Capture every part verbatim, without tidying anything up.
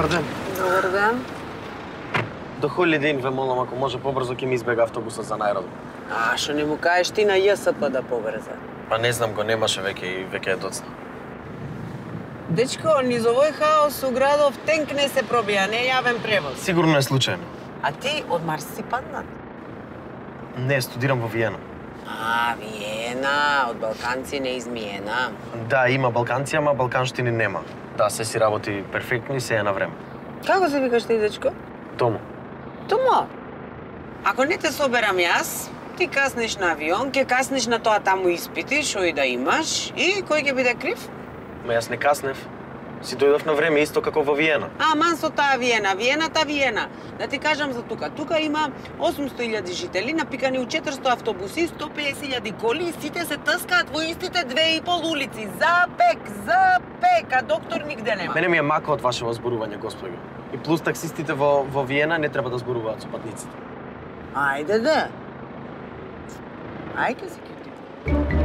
Добар ден. Добар ден. До Holiday Inn ве молам, ако може побрзо ќе ми избега автобусот за најродом. А, што не му кажеш ти на ЈСП да побрза? Па не знам, го немаше веќе и веќе е доцна. Дечко, низ овој хаос у градов тенк не се пробија, не јавен превоз. Сигурно е случајно. А ти од Марс си паднат? Не, студирам во Виена. А, Виена, од балканци не измиена. Да, има балканци, ама балканштини нема. Да, се си работи перфектно и се е на време. Како се викаш ти, дечко? Тому. Томо. Ако не те соберам јас, ти каснеш на авион, ќе каснеш на тоа таму испити, што и да имаш, и кој ќе биде крив? Ма јас не каснев. Си дојдов на време исто како во Виена. А, ман со таа Виена, Виената Виена. Да ти кажам за тука. Тука има осумсто илјади жители, напикани у четиристо автобуси, сто песет илјади коли, и сите се тъскаат во истите две и пол улици. За пек, за пек, а доктор нигде нема. Мене ми е мака од вашето зборување, господи. И плюс таксистите во, во Виена не треба да зборуваат со патниците. Ајде да. Ајде се критикувам.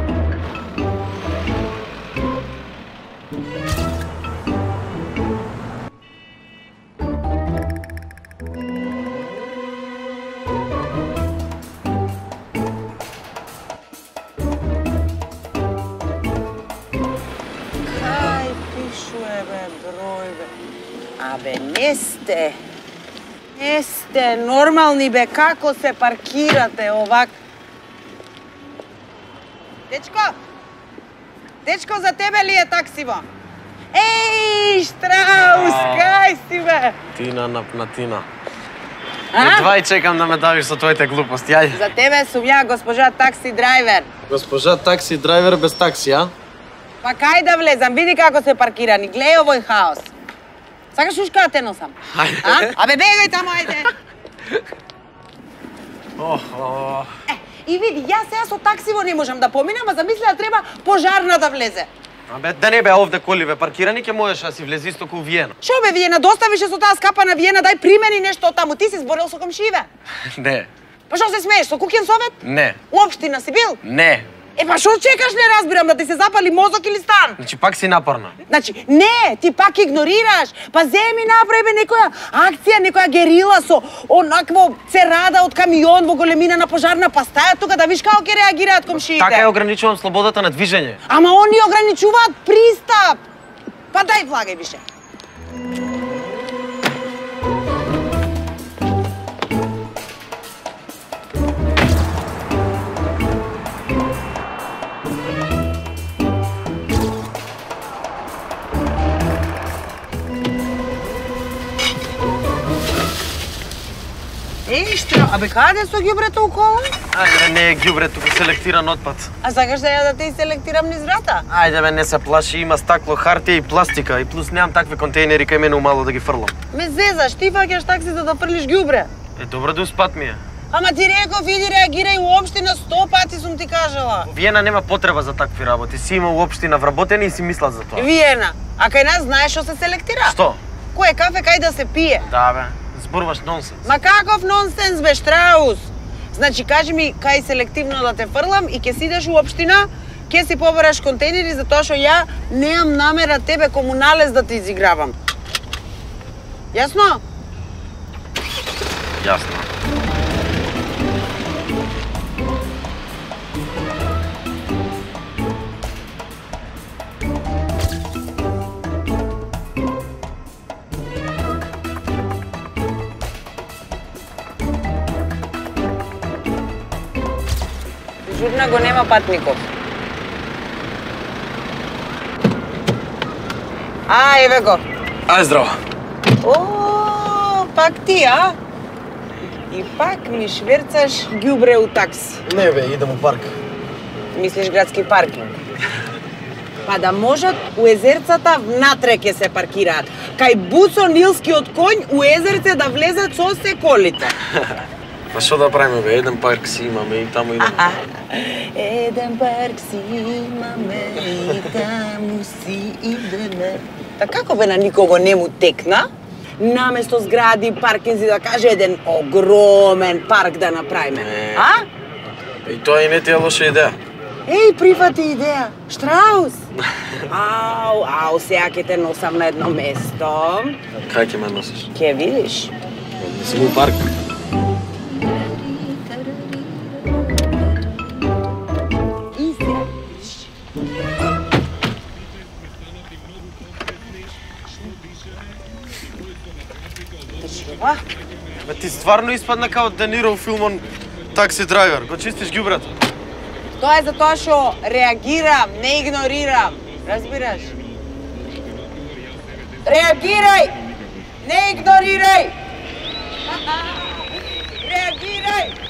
Абе, не сте. Не сте нормални, бе, како се паркирате овак? Дечко! Дечко, за тебе ли е таксиво? Еј, Штраус, кај си, бе? Тина напнатина. А? Едва и чекам да ме давиш со твоите глупости, ајде. За тебе сум ја, госпожа такси драйвер. Госпожа такси драйвер без такси, а? Па кај да влезам, види како се паркирани, глеј овој хаос. Сакаш ушка да те носам? Ајде. А? Абе, бегај таму, ајде. Охо. Е, и види, јас сега со таксиво не можам да поминам, а замисли да треба пожарна да влезе. Абе, да не бе овде коливе паркирани, ќе можеш да си влези исто ку Виена. Шо бе, Виена, доставише со таа скапана Виена, дај примени нешто од таму. Ти си зборел со комшиеве? Не. Па шо се смееш, со куќен совет? Не. Уопштина си бил? Не. Е, па шо чекаш, не разбирам, да ти се запали мозок или стан? Значи пак си напорна. Значи, не, ти пак игнорираш. Па земи направи бе некоја акција, некоја герила со онакво церада од камион во големина на пожарна, па стаја тука да виш како ќе реагираат комшиите. Така ја ограничувам слободата на движење. Ама они ограничуваат пристап. Па дај влагај више. Еј, Штра, абе каде со ѓубрето околу? Ајде, не е ѓубре, туку селектиран отпад. А сакаш да ја да те селектирам низ врата? Ајде бе, не се плаши, има стакло, хартија и пластика, и плюс немам такви контейнери кај мене умало да ги фрлам. Ме зезаш, ти фаќаш такси за да фрлиш ѓубре. Е, добро да успат ми е. Ама ти реков, иди реагирај уопштина, сто пати сум ти кажала. Виена нема потреба за такви работи, си има уопштина вработени и си мислат за тоа. Виена, а кај нас знаеш што се селектира? Што? Кој е кафе кај да се пие? Да бе, зборуваш нонсенс. Ма каков нонсенс бе, Штраус? Значи, кажи ми кај селективно да те фрлам и ќе си идеш у општина, ќе си побераш контейнери затоа што ја немам намера тебе комуналес да те изигравам. Јасно? Јасно. Журна го нема патников. А, еве го. Ај, здраво. О, пак ти, а? И пак ми шверцаш ѓубре у такси. Не бе, идем у парк. Мислиш градски паркинг? Па да можат у езерцата внатре ќе се паркираат. Кај Буцо Нилскиот коњ у езерце да влезат со се колите. Па што да правиме бе, еден парк си имаме и таму идеме. Еден парк си имаме и таму си идеме. Та како бе на никого не му текна? Наместо згради, паркинзи да каже еден огромен парк да направиме. А? И тоа и не ти е лоша идеја. Еј, прифати идеја. Штраус! Ау, ау, сега ќе те носам на едно место. Кај ќе ме носиш? Ќе видиш. Не сум у парк. И сега видиш. Држава. Бе, ти стварно испадна као Де Ниро у филмон Такси драйвер. Го чистиш ѓубрето. Тоа е затоа што реагирам, не игнорирам. Разбираш? Реагирај! Не игнорирај! Реагирај!